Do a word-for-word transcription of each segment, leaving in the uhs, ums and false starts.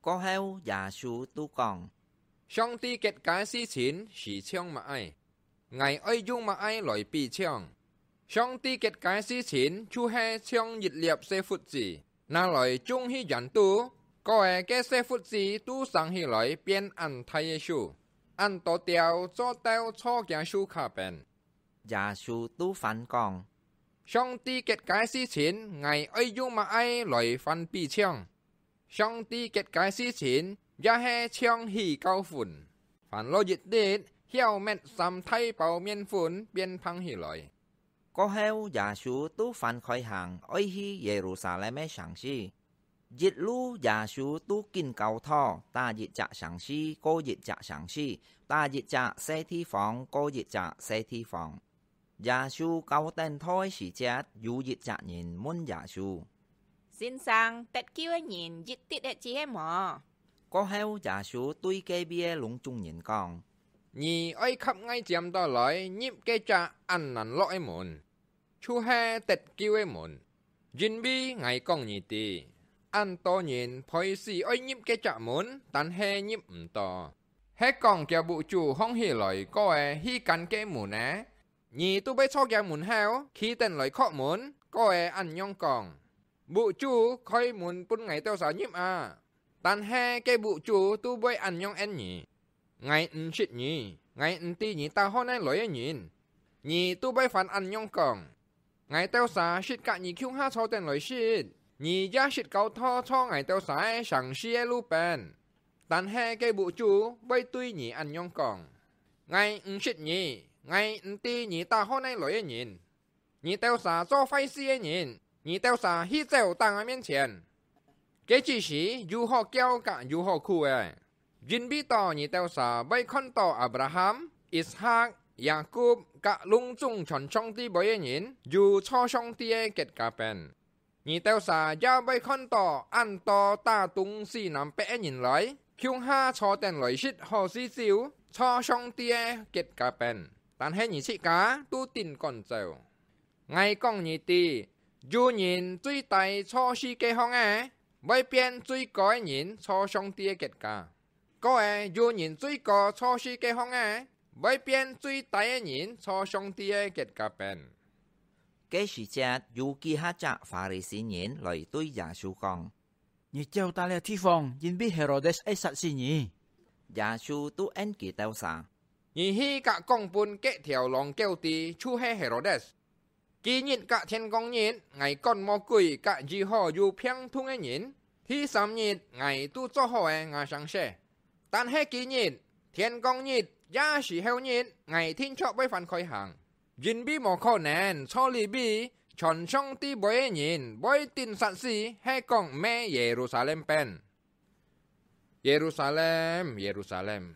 過後，耶穌就講：「上帝結个事情係像麼个？𠊎愛用麼个來比像？上帝結个事情就係像一粒細核子，拿來種去園肚，過後該細核子就生起來變恁大个樹，恁多鳥做到坐厥樹下邊。」耶穌就反講：「上帝結个事情，𠊎愛用麼个來反比像？上帝結个事情，也係像起酵粉，翻落一滴，曉搣三大包麵粉變膨起來。」過後，耶穌就翻開行，愛去耶路撒冷个城市。一路耶穌就緊教導，打一隻城市過一隻城市，打一隻細地方過一隻細地方。耶穌教等到个時節，有一隻人問耶穌：「先生，得救个人一滴个只係無？」過後，耶穌對該位个攏總人講：「你愛合𠊎尖到來，入該隻恁難落个門，就係得救个門。因為𠊎講你知，恁多人陪死愛入該隻門，但係入毋到。係講厥屋主䟘起來過後去關該門呢？你就會坐厥門口，企等來叩門，過後恁樣講： 屋主，開門分𠊎兜儕入啊！」但係該屋主就會恁樣應你：「𠊎毋識你，𠊎毋知你打何哪來个人。」你就會還恁樣講：「𠊎兜儕識佮你共下坐等來食，你也識教導坐𠊎兜儕个城市个路邊。」但係該屋主會對你恁樣講：「𠊎毋識你，𠊎毋知你打何哪來个人。」「你兜儕做壞事个人，你兜儕去走打𠊎面前！」該之時，有好噭佮有好哭个，因為到你兜儕會看到亞伯拉罕、以撒、雅各佮攏總傳上帝話个人，有坐上帝个腳架邊。 你兜儕也會看到恁多打東西南北个人來，共下坐等來食好勢酒，坐上帝个腳架邊，但係你自家都頂趕走。𠊎講你知，有人最低坐四個項仔，會變最高个人坐上帝个腳架。過後，有人最高坐四個項仔，會變最低个人坐上帝个腳架邊。該時節，有幾下隻法利賽人來對耶穌講：「你走到這地方，因為Herodes愛殺死你。」耶穌就應佢兜儕：「你去佮講分該條狼狗知，就係Herodes。 今日佮天光日，𠊎趕魔鬼佮醫好有病痛个人，第三日，𠊎就做好了吾雙手。但係今日，天光日，也係後日，𠊎定著會還開行，因為無可能坐這位傳上帝話个人會頂煞死，係講毋係耶路撒冷邊。 耶路撒冷，耶路撒冷，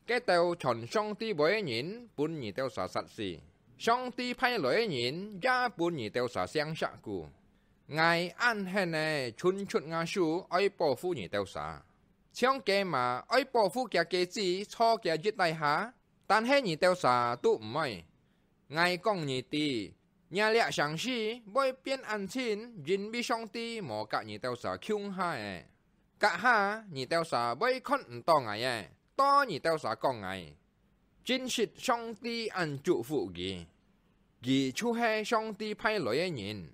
該兜傳上帝話个人分你兜儕殺死，上帝派來个人也分你兜儕性石牯。𠊎恁狠仔伸出吾手愛保護你兜儕，像雞嫲愛保護厥雞子坐厥翼底下，但係你兜儕都毋愛。 𠊎講你知，若這城市會變恁靜，因為上帝無佮你兜儕共下了。該下，你兜儕會看毋到𠊎了，到你兜儕講𠊎。真實上帝恁祝福佢，佢就係上帝派來个人。